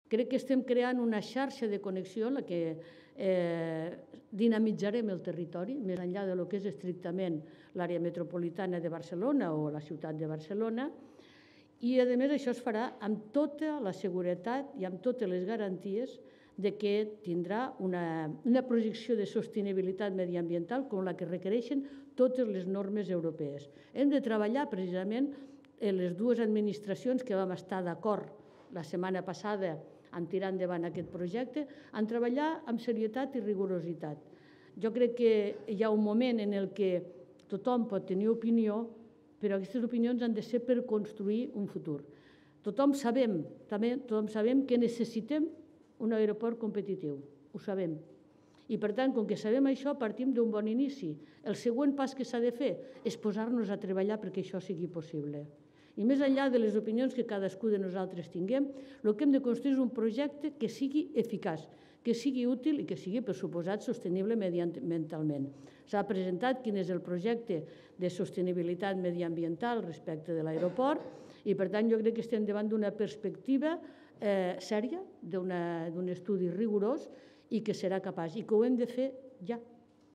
Crec que estem creant una xarxa de connexió en la que dinamitzarem el territori, més enllà del que és estrictament l'àrea metropolitana de Barcelona o la ciutat de Barcelona, i a més això es farà amb tota la seguretat i amb totes les garanties de que tindrà una projecció de sostenibilitat mediambiental com la que requereixen totes les normes europees. Hem de treballar precisament en les dues administracions que vam estar d'acord la setmana passada en tirar endavant aquest projecte, en treballar amb serietat i rigorositat. Jo crec que hi ha un moment en el que tothom pot tenir opinió, però aquestes opinions han de ser per construir un futur. Tothom sabem que necessitem un aeroport competitiu, ho sabem. I per tant, com que sabem això, partim d'un bon inici. El següent pas que s'ha de fer és posar-nos a treballar perquè això sigui possible. I més enllà de les opinions que cadascú de nosaltres tinguem, el que hem de construir és un projecte que sigui eficaç, que sigui útil i que sigui, per suposat, sostenible mediambientalment. S'ha presentat quin és el projecte de sostenibilitat mediambiental respecte de l'aeroport i, per tant, jo crec que estem davant d'una perspectiva sèria, d'un estudi rigorós i que serà capaç i que ho hem de fer ja.